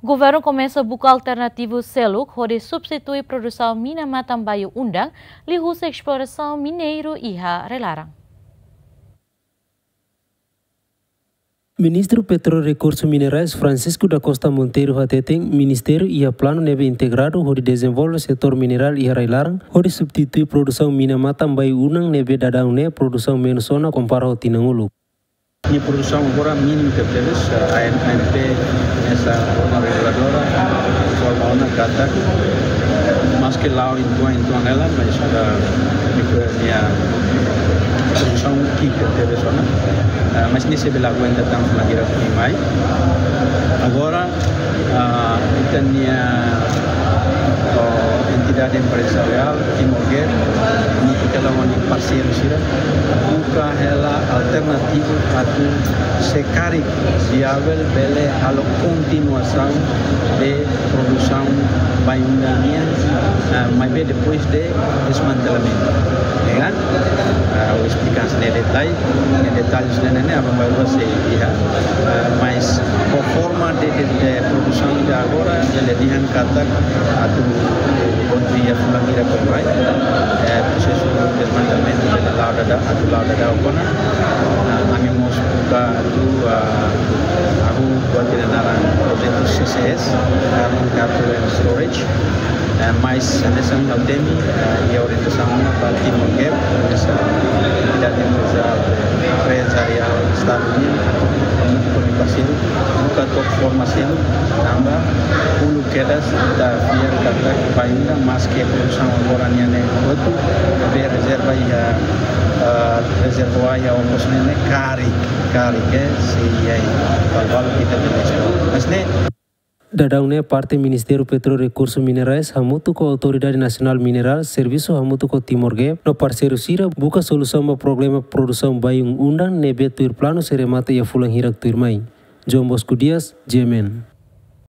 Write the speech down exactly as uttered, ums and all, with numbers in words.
Governu komesa buka alternativu seluk hodi substitui produsaun mina matan-bayu-undan liuhusi esplorasaun mineiru iha rai-laran. Ministru Petróleu no Rekursu Minerais, Francisco da Costa Monteiro, hateten ministériu iha planu ne'ebé integradu hodi dezenvolve setór minerál iha rai-laran hodi substitui produsaun mina matan-bayu-undan ne'ebé daudaun ne'e produsaun menus ona kompara ho tinan uluk. Nia produsaun agora mínimu tebes, eh, A N P hanesan órgaun reguladora informa ona katak, maske la'o uitoan, uitoan hela, mas, eh, nia produsaun ki'ik tebes ona. Eh, mas nia sei bele aguenta tan fulan hira tuirmai. Agora, ah, ita-nia, oh, entidade empresariál, Timor Gas, nia fiar hela ho nia parseiru sira, buka hela alternativu atu se karik viavel bele halo kontinuasaun de produsaun bayu-undan nian, ah, maibé depois de desmantelamentu. Ya kan? Ah, ha'u esplika hanesan ne'e detallu, ne'e detallu sira-ne'e ne'e aban-bainrua sei iha. Ah, mas ho forma de, de, de produsaun ida agora, bele dehan katak atu kontinua fulan hira tuirmai. Eh, prosesu desmantelamentu bele la'o daudaun, atu la'o daudaun ona. Ah, ami mós buka atu, ah, hahú buat ida naran projetu C C S, Carbon Capture and Storage. Eh, mas hanesan ha'u temi, eh, iha orientasaun ona ba Timor Gas, hanesan entidade empresa-, empresariál Estadu nian, hamutuk ho nia parseiru, buka took forma seluk, tanba uluk kedas ita fiar katak bayu-undan, maske produsaun agora nian ne'e hotu, maibé rezerva iha, eh, rezervuár iha Ombos ne'e ne'e karik, karik, eh, sei iha, eh, valvalo kita de. Mas ne'e, daudaun ne'e parte Ministériu Petróleu no Rekursu Minerais hamutuk ho Autoridade Nasionál Minerál servisu hamutuk ho Timor Gas no parseiru sira buka solusaun ba problema produsaun bayu-undan ne'ebé tuir planu sei remata iha fulan hirak tuirmai. João Bosco Dias, G M N.